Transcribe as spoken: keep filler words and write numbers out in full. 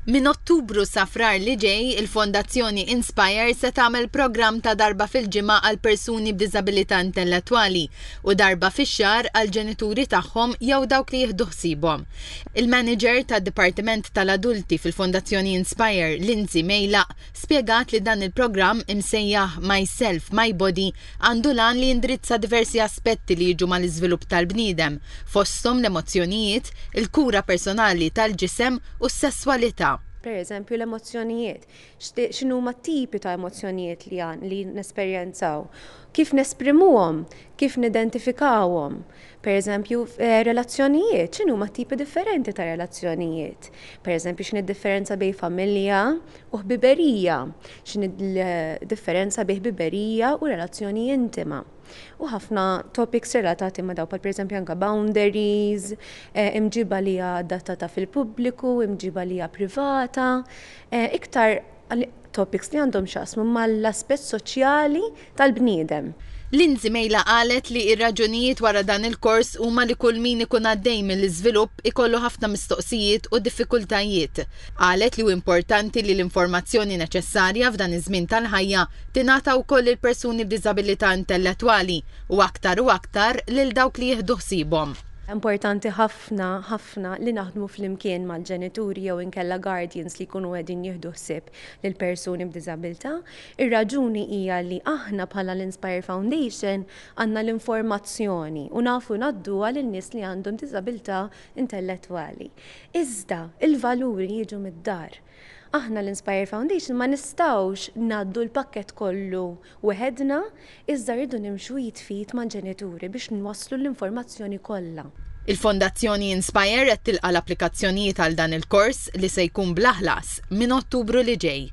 Minn Ottubru sa Frar li ġej, il-Fondazzjoni Inspire se tagħmel programm ta' darba fil-ġimgħa għal persuni b'diżabilità intellettwali u darba fix-xahar għal ġenituri tagħhom jew dawk li jieħdu ħsiebhom. Il-manager tad-Dipartiment tal-Adulti fil-Fondazzjoni Inspire, Lindsay Mejlaq, spjegat li dan il-programm imsejjaħ Myself, My Body għandu l-għan li jindirizza diversi aspetti li jiġu mal-iżvilupp tal-bniedem, fosthom l-emozzjonijiet, il-kura personali tal-ġisem u s-sesswalità. Per eżempju l-emozzjonijiet, x'inhuma tipi ta' emozzjonijiet li għan li nesperjenzaw, kif nesprimuhom, kif nidentifikawhom. Per eżempju, eh, relazzjonijiet, x'inhuma tipi differenti ta' relazzjonijiet. Per eżempju, x'inhi differenza bejn familja u ħbiberija, x'inhi differenza bejn ħbiberija u relazzjoni intima. U ħafna topics relatati ma' daw, per eżempju anka boundaries, eh, imġiba li hija adattata fil-pubbliku, imġiba li hija privata, eh, iktar topics li għandhom x'jaqsmu mal-aspett soċjali tal-bniedem. Lindsay Mejlaq qalet li ir-raġunijiet wara dan il-kors huma li kull min ikun għaddej mill-iżvilupp ikollu ħafna mistoqsijiet u diffikultajiet. Qalet li hu importanti li l-informazzjoni neċessarja f'dan iż-żmien tal-ħajja tingħata wkoll il-persuni b'diżabilità intellettwali u aktar u aktar lil dawk li jieħdu ħsiebhom. Importanti ħafna, ħafna li naħdmu flimkien mal-ġenituri jew inkella guardians li jkunu qegħdin jieħdu ħsieb lil persuni b'diżabilità. Ir-raġuni hija li aħna bħala l-Inspire Foundation għandna l-informazzjoni u nafu ngħadduha lil nies li għandhom diżabilità intellettwali. Iżda il-valuri jiġu mid-dar. Aħna l-Inspire Foundation ma nistgħux ngħaddu l-pakket kollu weħedna, iżda rridu nimxu id f'id mal-ġenituri biex nwasslu l-informazzjoni kollha. Il-Fondazzjoni Inspire qed tilqa' l-applikazzjonijiet għal dan il-kors li se jkun bla ħlas minn Ottubru li ġej.